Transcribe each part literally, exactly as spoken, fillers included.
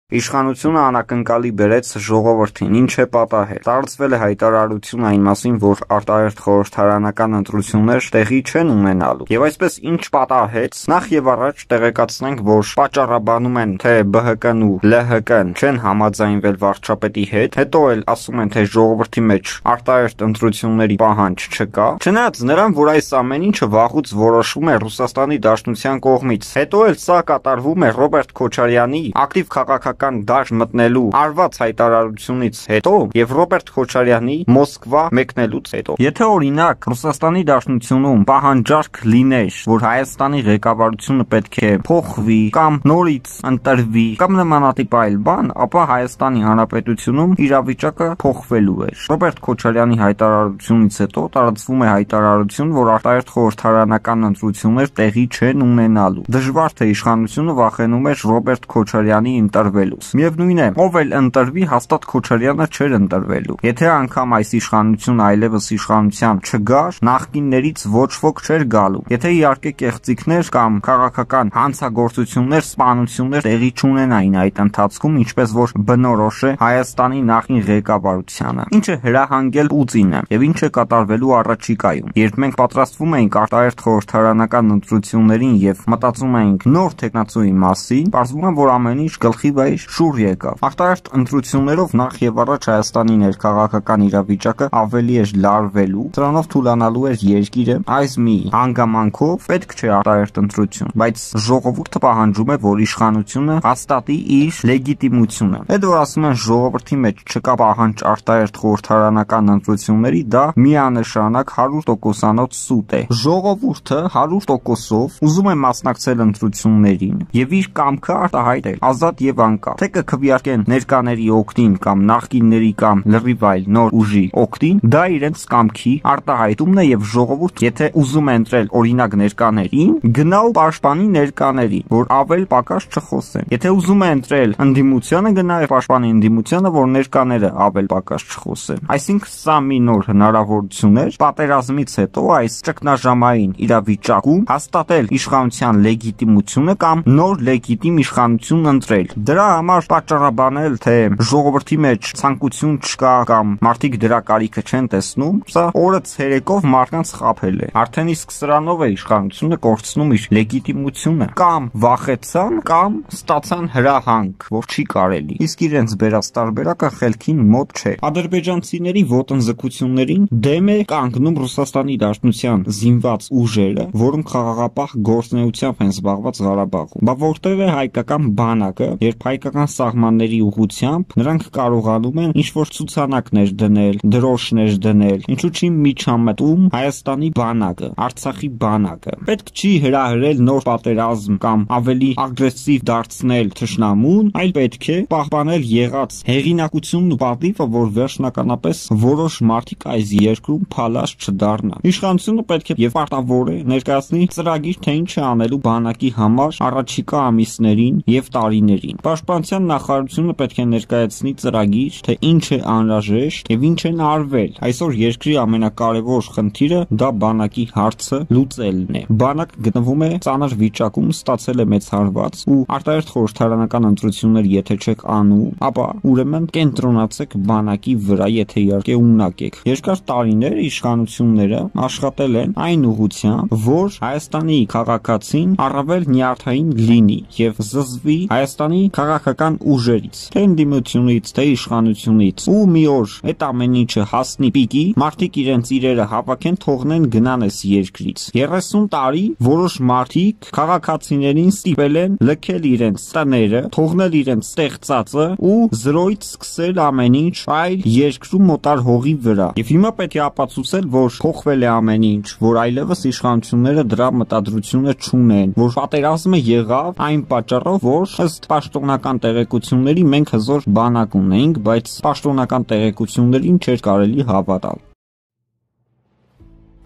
Իշխանությունը անակնկալի բերեց ժողովրդին, ինչ է պատահել։ Տարածվել է հայտարարություն այն մասին, որ արտահերթ խորհրդարանական ընտրություններ տեղի չեն ունենալու։ Եվ այսպես ինչ պատահեց, նախ եւ առաջ տեղեկացնենք, որ պատճառաբանում են, թե B H K-ն ու L H K-ն չեն համաձայնվել վարչապետի հետ, հետո էլ ասում են, թե ժողովրդի մեջ արտահերթ ընտրությունների պահանջ չկա։ Չնայած նրան, որ այս ամեն ինչը վաղուց որոշվում է Ռուսաստանի Դաշնության կողմից, հետո էլ սա կատարվում է Ռոբերտ Քոչարյանի ակտիվ քաղաքական դաշտ մտնելու արված հայտարարությունից հետո եւ Ռոբերտ Քոչարյանի Մոսկվա մեկնելուց հետո։ Եթե օրինակ Ռուսաստանի Դաշնությունում պահանջարկ լիներ, որ Հայաստանի ղեկավարությունը պետք է փոխվի կամ նորից ընտրվի կամ նմանատիպ այլ բան, ապա Հայաստանի Հանրապետությունում իրավիճակը փոխվելու էր։ Ռոբերտ Քոչարյանի հայտարարությունից հետո տարածվում է հայտարարություն, որ արտահերթ խորհրդարանական ընտրություններ տեղի չեն ունենալու։ Դժվար թե իշխանությունը վախենում էր Ռոբերտ Քոչարյանի ընտրվելուց։ Միևնույն է, ով էլ ընտրվի, հաստատ Քոչարյանը չէր ընտրվելու։ Եթե անգամ այս իշխանությունը այլևս իշխանության չգար, նախկիններից ոչ ոք չէր գալու։ Եթե իհարկե կեղծիքներ կամ քաղաքական հանցագործություններ, սպանություններ տեղի չունենային այդ ընթացքում, ինչպես որ բնորոշ է Հայաստանի նախին ղեկավարությանը, ինչը հրահանգել Պուտինը եւ ինչ է կատարվելու առաջիկայում։ Երբ մենք պատրաստվում էինք արտահերթ խորհրդարանական ընտրություններին եւ մտածում էինք նոր տեխնացուի մասին, պարզվում է, որ ամեն ինչ գլխի վայր շուռ եկավ։ Արտահերթ ընտրություններով նախ եւ առաջ Հայաստանի ներքաղաքական իրավիճակը ավելի էր լարվելու, դրանով թուլանալու էր երկիրը, այս մի հանգամանքով պետք չէ արտահերթ ընտրություն, բայց ժողովուրդը պահանջում է, որ իշխանությունը հաստատի իր լեգիտիմությունը։ Այդ որ ասում են ժողովրդի մեջ չկա պահանջ արտահերթ խորհրդարանական ընտրությունների, դա միանշանակ հարյուր տոկոսանոց սուտ է։ Ժողովուրդը հարյուր տոկոսով ուզում է մասնակցել ընտրություններին եւ իր կամքը արտահայտել ազատ եւ անկախ։ Թե կքվեարկեն ներկաների օգտին կամ նախկինների կամ լրիվ այլ նոր ուժի օգտին, դա իրենց կամքի արտահայտումն է եւ ժողովուրդ, եթե ուզում է ընտրել օրինակ ներկաներին, գնա ու պաշտպանի ներկաներին, որ ավել պակաս չխոսեն։ Եթե ուզում է ընտրել ընդդիմությանը, գնա եւ պաշտպանի ընդդիմությանը, որ ներկաները ավել պակաս չխոսեն։ Այսինքն սա մի նոր հնարավորություն էր պատերազմից հետո այս ճգնաժամային իրավիճակում հաստատել իշխանության լեգիտիմությունը կամ նոր լեգիտիմ իշխանություն ընտրել։ Դրա համար պատճառաբանել, թե ժողովրդի մեջ ցանկություն չկա կամ մարդիկ դրա կարիքը չեն տեսնում, սա օրը ցերեկով մարդկանց խաբել է։ Արդեն իսկ սրանով է իշխանությունը կորցնում իր լեգիտիմությունը։ Կամ վախեցան, կամ ստացան հրահանգ, որ չի կարելի։ Իսկ իրենց բերած տարբերակը խելքին մոտ չէ։ Ադրբեջանցիների ոտնձգություններին դեմ է կանգնում Ռուսաստանի Դաշնության զինված ուժերը, որոնք խաղաղապահ գործունեությամբ են զբաղված Ղարաբաղում։ Բա որտեղ է հայկական բանակը, երբ հայկական սահմանների ուղղությամբ նրանք կարողանում են ինչ-որ ցուցանակներ դնել, դրոշներ դնել, ինչու՞ չի միջամտում Հայաստանի բանակը, Արցախի բանակը։ Պետք չի հրահրել նոր պատերազմ կամ ավելի ագրեսիվ դարձնել թշնամուն, այլ պետք է պահպանել եղած հեղինակությունն ու պատիվը, որ վերջնականապես որոշ մարդիկ այս երկրում փալաշ չդառնան։ Իշխանությունը պետք է եւ պարտավոր է ներկայացնի ծրագիր, թե ինչ է անելու բանակի համար առաջիկա ամիսներին եւ տարիներին։ Պաշտպանության նախարարությունը պետք է ներկայացնի ծրագիր, թե ինչ է անհրաժեշտ եւ ինչ են արվել։ Այսօր երկրի ամենակարևոր խնդիրը դա բանակի հարցը լուծելն է։ Բանակը գտնվում է ծանր վիճակում, ստացել է մեծ հարված ու արտահերթ խորհրդարանական ընտրություններ եթե չեք անում, ապա ուրեմն կենտրոնացեք բանակի վրա, եթե իհարկե ունակ եք։ Երկար տարիներ իշխանությունները աշխատել են այն ուղղությամբ, որ Հայաստանի քաղաքացին առավել նյարդային լինի եւ զզվի Հայաստանի քաղաքական ուժերից, թե ընդդիմությունից, թե իշխանությունից։ Ու մի օր այդ ամեն ինչը հասնի պիկի, մարդիկ իրենց իրերը հավաքեն, թողնեն գնան այս երկրից։ երեսուն տարի որոշ մարդիկ քաղաքացիներին ստիպել են լքել իրենց տները, թողնել իրենց ստեղծածը ու զրոյից սկսել ամեն ինչ այլ երկրում մոտար հողի վրա։ Եվ հիմա պետք է ապացուցել, որ փոխվել է ամեն ինչ, որ այլևս իշխանությունները դրա մտադրությունը չունեն, որ պատերազմը եղավ այն պատճառով, որ ըստ պաշտոնական տեղեկությունների մենք հզոր բանակ ունեինք, բայց պաշտոնական տեղեկություններին չէր կարելի հավատալ։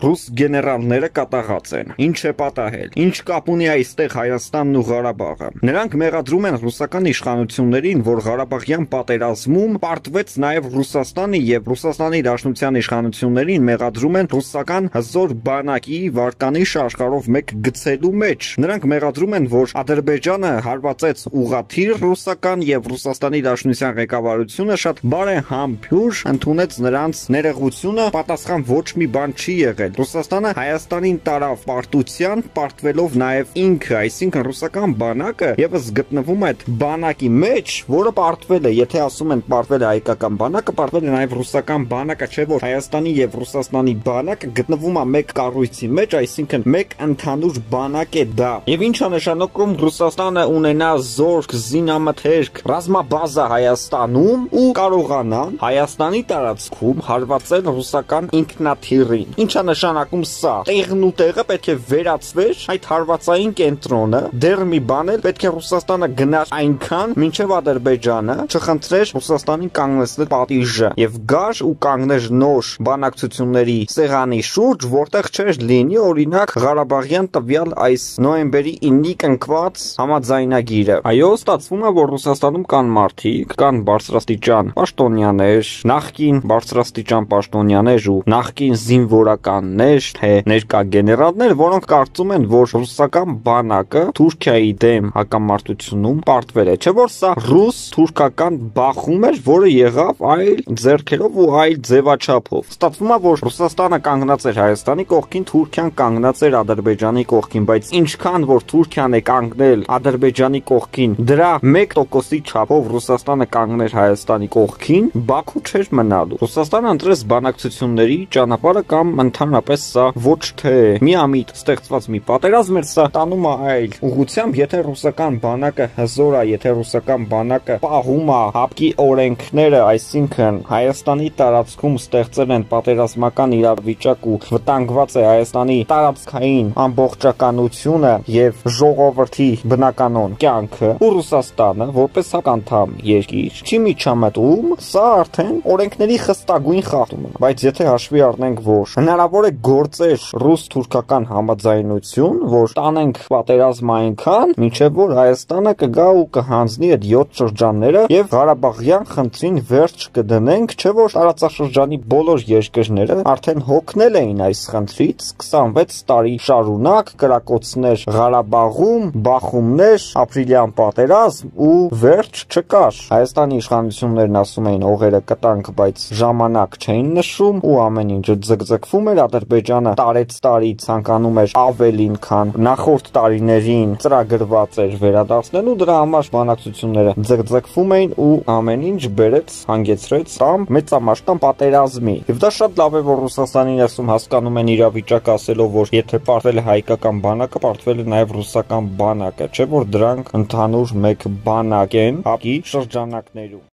ռուս գեներալները կատաղած են։ Ինչ է պատահել։ Ինչ կապ ունի այստեղ Հայաստանն ու Ղարաբաղը։ Նրանք մեղադրում են ռուսական իշխանություններին, որ Ղարաբաղյան պատերազմում պարտվեց նաև Ռուսաստանի եւ Ռուսաստանի Դաշնության իշխանություններին մեղադրում են ռուսական հզոր բանակի վարկանիշ աշխարհով մեկ գցելու մեջ։ Նրանք մեղադրում են, որ Ադրբեջանը հարվածեց ուղղաթիռ ռուսական եւ Ռուսաստանի Դաշնության ղեկավարությունը շատ բարեհամբույր ընդունեց նրանց ներողությունը, պատասխան ոչ մի բան չի եղել։ Ռուսաստանը Հայաստանին տարավ պարտության, պարտվելով նաև ինքը, այսինքն ռուսական բանակը եւս գտնվում է այդ բանակի մեջ, որը պարտվել է, եթե ասում են պարտվել է հայկական բանակը, պարտվել է նաև ռուսական բանակը, չէ՞ որ Հայաստանի եւ Ռուսաստանի բանակը գտնվում է մեկ կառույցի մեջ, այսինքն մեկ ընդհանուր բանակ է դա։ Եվ ինչ է նշանակում Ռուսաստանը ունենա զորք, զինամթերք, ռազմաբազա Հայաստանում ու կարողանա Հայաստանի տարածքում հարվածել ռուսական ինքնաթիռին։ Ինչ է նշանակում սա։ Տեղն ու տեղը պետք է վերացվեր այդ հարվածային կենտրոնը, դեռ մի բան էլ պետք է Ռուսաստանը գնար այնքան, մինչև Ադրբեջանը չխնդրեր Ռուսաստանին կանգնեցնել պատիժը եւ գար ու կանգներ նոր բանակցությունների սեղանի շուրջ, որտեղ չէր լինի օրինակ Ղարաբաղյան տվյալ այս նոյեմբերի իննի կնքված համաձայնագիրը։ Այո, ստացվում է, որ Ռուսաստանում կան մարդիկ, կան բարձրաստիճան պաշտոնյաներ, նախկին բարձրաստիճան պաշտոնյաներ ու նախկին զինվորականներ, թե ներկա գեներալներ, որոնք կարծում են, որ ռուսական բանակը Թուրքիայի դեմ հակամարտությունում պարտվել է, չէ՞ որ սա ռուս-թուրքական բախում էր, որը եղավ այլ ձեռքերով ու այլ ձևաչափով։ Ստացվում է, որ Ռուսաստանը կանգնած էր Հայաստանի կողքին, Թուրքիան կանգնած էր Ադրբեջանի կողքին, բայց ինչքան որ Թուրքիան է կանգնել Ադրբեջանի կողքին, դրա մեկ տոկոսի չափով Ռուսաստանը կանգներ Հայաստանի կողքին, Բաքու չէր մնալու։ Ռուսաստանը ընտրեց բանակցությունների ճանապարհը կամ ընդհանրապես սա ոչ թե միամիտ ստեղծված մի պատերազմ էր, սա տանում է այլ ուղղությամբ, եթե ռուսական բանակը հզոր է, եթե ռուսական բանակը պահում է հապկի օրենքները, այսինքն Հայաստանի տարածքում ստեղծել են պատերազմական իրավիճակ ու վտանգված է Հայաստանի տարածքային ամբողջականությունը եւ ժողովրդի բնականոն կյանքը, ու Ռուսաստանը որպես հականդամ երկիր չի միջամտում, սա արդեն օրենքների խստագույն խախտում է։ Բայց եթե հաշվի առնենք, որ հնարավոր է գործեր ռուս-թուրքական համաձայնություն, որ տանենք պատերազմ այնքան, մինչև որ Հայաստանը կգա ու կհանձնի այդ յոթ շրջանները եւ Ղարաբաղյան խնդրին վերջ կդնենք, չէ՞ որ տարածաշրջանի բոլոր երկրները արդեն հոգնել էին այս խնդրից, քսանվեց տարի շարունակ կրակոցներ Ղարաբաղում, բախումներ, ապրիլյան պատերազմ ու վերջ չկար։ Հայաստանի իշխանություններն ասում էին օղերը կտանք, բայց ժամանակ չէին նշում ու ամեն ինչ ձգձգվում էր, Ադրբեջանը տարեց տարի ցանկանում էր ավելին, քան նախորդ տարիներին ծրագրված էր վերադարձնելու, դրա համար բանակցությունները ձգձգվում էին ու ամեն ինչ բերեց, հանգեցրեց կամ մեծամասնական պատերազմի։ Եվ դա շատ լավ է, որ Ռուսաստանի ներսում հասկանում են իրավիճակը, ասելով, որ եթե պարտվել է հայկական բանակը, պարտվել է նաև ռուսական բանակը, չէ՞ որ դրանք ընդհանուր մեկ բանակ են հապկի շրջանակներում։